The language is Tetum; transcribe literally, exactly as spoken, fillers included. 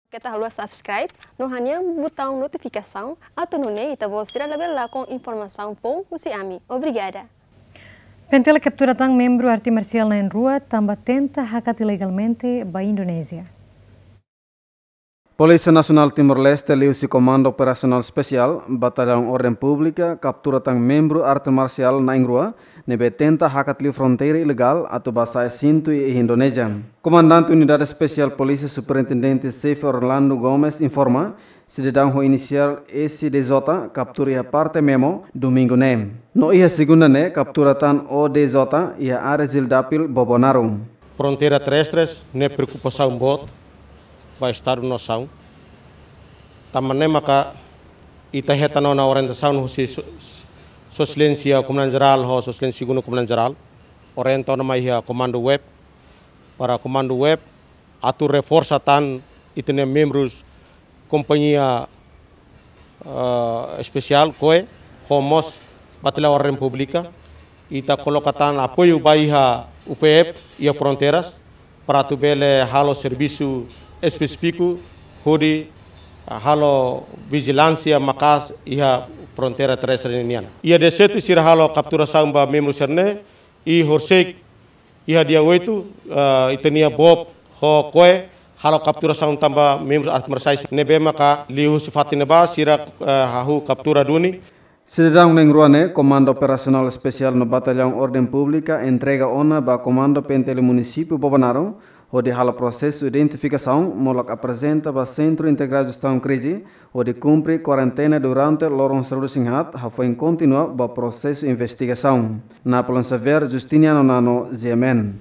Keta haluha subscribe no hanehan butaun notifikasaun atu nune'e ita-boot sira labele lakon informasaun foun husi ami. Obrigada. PNTL kaptura tan membru arte marsiál na'in-rua tanba tenta hakat ilegalmente ba Indonézia. Polísia Nasionál Timor-Leste liuhusi Komandu Operasionál Espesiál, Batallaun Orden Públika, kaptura tan membru arte marsiál na'in-rua ne'ebé tenta hakat liu fronteira ilegál atu bá sa'e sintu iha Indonézia. Komandante Unidade Espesiál Polísia Superintendente Xefe Orlando Gomes informa, sidadaun ho inisiál S D J kaptura iha parte Memo, domingu ne'e. No iha segunda ne'e kaptura tan O D J iha área Zildapil, Bobonaro. Fronteira terrestres ne'e preokupasaun boot ba Estadu nasaun. Tanba ne'e maka ita hetan ona orientasaun husi Sua, Sua Exelénsia Komandante Jerál ho Sua Exelénsia Segundu Komandante Jerál. Orienta ona mai iha Komandu Web, para Komandu Web atu reforsa tan ita-nia membrus kompañia, eh, espesiál, koe, ho mós Batallaun Orden Públika. Ita koloka tan apoiu ba iha U P F, iha fronteiras, para atu bele halo servisu espesífiku hodi, ah, halo vijilánsia maka'as iha fronteira terrestre nian. Iha dia sete sira halo kapturasaun ba membru sira-ne'e, i horisehik iha dia oito, ah, ita-nia boot ho koe halo kapturasaun tan ba membru arte marsiál ne'ebé maka liuhusi fatin ne'ebá sira, ah, hahú kaptura duni. Sidadaun na'in-rua ne'e, Komandu Operasionál Espesiál no Batallaun Orden Públika entrega ona ba Komandu PNTL Munisípiu Bobonaro, hodi halo prosesu identifikasaun, molok aprezenta ba Sentru Integradu Jestaun Krize, hodi kumpre kuarentena durante loron sanulu-resin haat, hafoin kontinua ba prosesu investigasaun. Napoleon Xavier, Justiniano Nano, G M N.